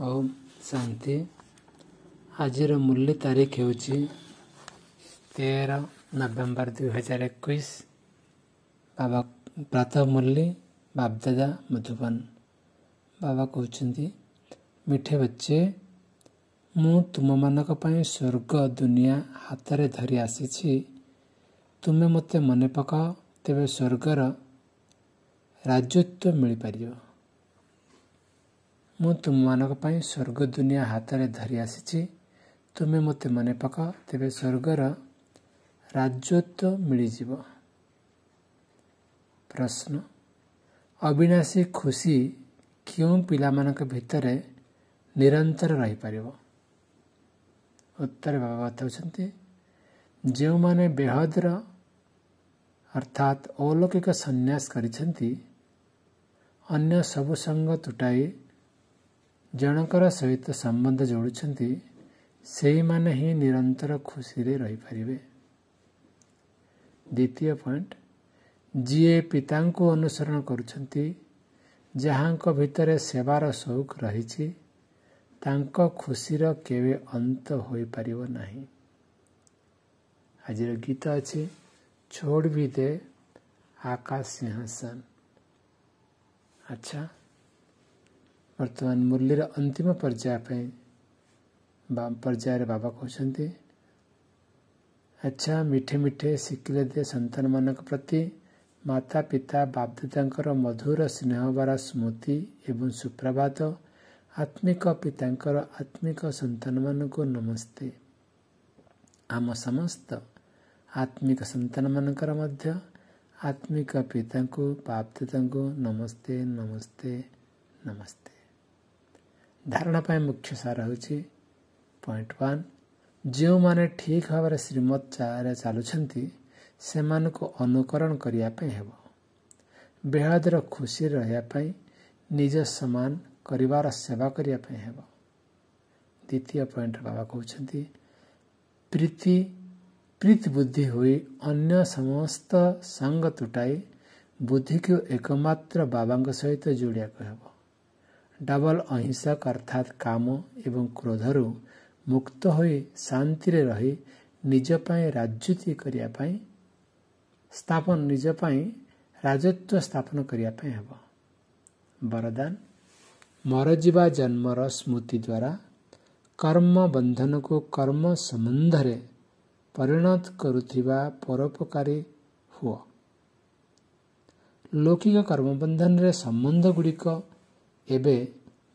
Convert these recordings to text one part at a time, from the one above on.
ଓମ୍ ଶାନ୍ତି। ଆଜିର ମୂଲ୍ୟ ତାରିଖ ହେଉଛି 13 ନଭେମ୍ବର 2021। ବାବା ପ୍ରାତଃ ମୂଲ୍ୟ, ବାପଦାଦା ମଧୁବନ। ବାବା କହୁଛନ୍ତି, ମିଠେ ବଚ୍ଚେ, ମୁଁ ତୁମମାନଙ୍କ ପାଇଁ ସ୍ୱର୍ଗ ଦୁନିଆ ହାତରେ ଧରି ଆସିଛି। ତୁମେ ମୋତେ ମନେ ପକାଅ, ତେବେ ସ୍ୱର୍ଗର ରାଜତ୍ୱ ମିଳିପାରିବ। ମୁଁ ତୁମମାନଙ୍କ ପାଇଁ ସ୍ୱର୍ଗ ଦୁନିଆ ହାତରେ ଧରି ଆସିଛି। ତୁମେ ମୋତେ ମନେ ପକାଅ, ତେବେ ସ୍ୱର୍ଗର ରାଜତ୍ୱ ମିଳିଯିବ। ପ୍ରଶ୍ନ, ଅବିନାଶୀ ଖୁସି କେଉଁ ପିଲାମାନଙ୍କ ଭିତରେ ନିରନ୍ତର ରହିପାରିବ? ଉତ୍ତର, ବାବା ବତାଉଛନ୍ତି, ଯେଉଁମାନେ ବେହଦର ଅର୍ଥାତ୍ ଅଲୌକିକ ସନ୍ନ୍ୟାସ କରିଛନ୍ତି, ଅନ୍ୟ ସବୁ ସଙ୍ଗ ତୁଟାଇ ଜଣଙ୍କର ସହିତ ସମ୍ବନ୍ଧ ଯୋଡ଼ୁଛନ୍ତି, ସେଇମାନେ ହିଁ ନିରନ୍ତର ଖୁସିରେ ରହିପାରିବେ। ଦ୍ୱିତୀୟ ପଏଣ୍ଟ, ଯିଏ ପିତାଙ୍କୁ ଅନୁସରଣ କରୁଛନ୍ତି, ଯାହାଙ୍କ ଭିତରେ ସେବାର ସଉକ ରହିଛି, ତାଙ୍କ ଖୁସିର କେବେ ଅନ୍ତ ହୋଇପାରିବ ନାହିଁ। ଆଜିର ଗୀତ ଅଛି, ଛୋଡ଼ ବି ଦେ ଆକାଶ ସିଂହାସନ। ଆଚ୍ଛା, ବର୍ତ୍ତମାନ ମୁରଲୀର ଅନ୍ତିମ ପର୍ଯ୍ୟାୟ ପାଇଁ ବା ପର୍ଯ୍ୟାୟରେ ବାବା କହୁଛନ୍ତି, ଆଚ୍ଛା, ମିଠେ ମିଠେ ଶିଖିଲେ ଦେ ସନ୍ତାନମାନଙ୍କ ପ୍ରତି ମାତା ପିତା ବାପଦାଦାଙ୍କର ମଧୁର ସ୍ନେହଭରା ସ୍ମୃତି ଏବଂ ସୁପ୍ରଭାତ। ଆତ୍ମିକ ପିତାଙ୍କର ଆତ୍ମିକ ସନ୍ତାନମାନଙ୍କୁ ନମସ୍ତେ। ଆମ ସମସ୍ତ ଆତ୍ମିକ ସନ୍ତାନମାନଙ୍କର ମଧ୍ୟ ଆତ୍ମିକ ପିତାଙ୍କୁ ବାପଦାଦାଙ୍କୁ ନମସ୍ତେ, ନମସ୍ତେ, ନମସ୍ତେ। ଧାରଣା ପାଇଁ ମୁଖ୍ୟ ସାର ହେଉଛି ପଏଣ୍ଟ 1, ଯେଉଁମାନେ ଠିକ୍ ଭାବରେ ଶ୍ରୀମତରେ ଚାଲୁଛନ୍ତି, ସେମାନଙ୍କୁ ଅନୁକରଣ କରିବା ପାଇଁ ହେବ। ବେହଦର ଖୁସିରେ ରହିବା ପାଇଁ ନିଜ ସମାନ କରିବାର ସେବା କରିବା ପାଇଁ ହେବ। ଦ୍ୱିତୀୟ ପଏଣ୍ଟରେ ବାବା କହୁଛନ୍ତି, ପ୍ରୀତି ପ୍ରୀତି ବୁଦ୍ଧି ହୋଇ ଅନ୍ୟ ସମସ୍ତ ସଙ୍ଗ ତୁଟାଇ ବୁଦ୍ଧିକୁ ଏକମାତ୍ର ବାବାଙ୍କ ସହିତ ଯୋଡ଼ିବାକୁ ହେବ। ଡବଲ ଅହିଂସକ ଅର୍ଥାତ୍ କାମ ଏବଂ କ୍ରୋଧରୁ ମୁକ୍ତ ହୋଇ ଶାନ୍ତିରେ ରହି ନିଜ ପାଇଁ ରାଜୁତି କରିବା ପାଇଁ ସ୍ଥାପନ, ନିଜ ପାଇଁ ରାଜତ୍ୱ ସ୍ଥାପନ କରିବା ପାଇଁ ହେବ। ବରଦାନ, ମରଯିବା ଜନ୍ମର ସ୍ମୃତି ଦ୍ୱାରା କର୍ମ ବନ୍ଧନକୁ କର୍ମ ସମ୍ବନ୍ଧରେ ପରିଣତ କରୁଥିବା ପରୋପକାରୀ ହୁଅ। ଲୌକିକ କର୍ମବନ୍ଧନରେ ସମ୍ବନ୍ଧ ଗୁଡ଼ିକ ଏବେ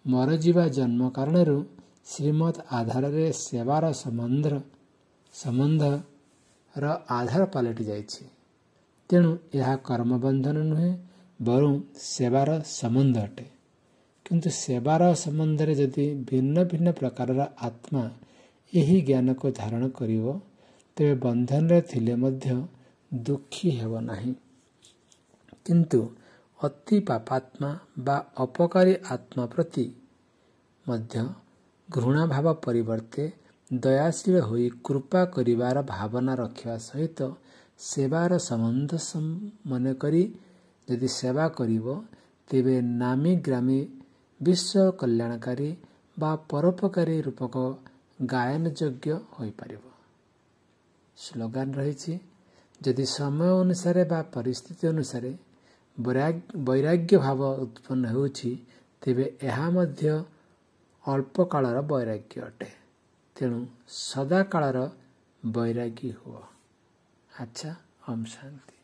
ମରଯିବା ଜନ୍ମ କାରଣରୁ ଶ୍ରୀମତ ଆଧାରରେ ସେବାର ସମ୍ବନ୍ଧର ଆଧାର ପାଲଟି ଯାଇଛି। ତେଣୁ ଏହା କର୍ମବନ୍ଧନ ନୁହେଁ, ବରଂ ସେବାର ସମ୍ବନ୍ଧ ଅଟେ। କିନ୍ତୁ ସେବାର ସମ୍ବନ୍ଧରେ ଯଦି ଭିନ୍ନ ଭିନ୍ନ ପ୍ରକାରର ଆତ୍ମା ଏହି ଜ୍ଞାନକୁ ଧାରଣ କରିବ, ତେବେ ବନ୍ଧନରେ ଥିଲେ ମଧ୍ୟ ଦୁଃଖୀ ହେବ ନାହିଁ। କିନ୍ତୁ ଅତି ପାପାତ୍ମା ବା ଅପକାରୀ ଆତ୍ମା ପ୍ରତି ମଧ୍ୟ ଘୃଣାଭାବ ପରିବର୍ତ୍ତେ ଦୟାଶୀଳ ହୋଇ କୃପା କରିବାର ଭାବନା ରଖିବା ସହିତ ସେବାର ସମ୍ବନ୍ଧ ମନେକରି ଯଦି ସେବା କରିବ, ତେବେ ନାମୀ ଗ୍ରାମୀ ବିଶ୍ୱ କଲ୍ୟାଣକାରୀ ବା ପରୋପକାରୀ ରୂପକ ଗାୟନ ଯୋଗ୍ୟ ହୋଇପାରିବ। ସ୍ଲୋଗାନ ରହିଛି, ଯଦି ସମୟ ଅନୁସାରେ ବା ପରିସ୍ଥିତି ଅନୁସାରେ ବୈରାଗ୍ୟ ଭାବ ଉତ୍ପନ୍ନ ହେଉଛି, ତେବେ ଏହା ମଧ୍ୟ ଅଳ୍ପ କାଳର ବୈରାଗ୍ୟ ଅଟେ। ତେଣୁ ସଦାକାଳର ବୈରାଗୀ ହୁଅ। ଆଚ୍ଛା, ଓମ୍ ଶାନ୍ତି।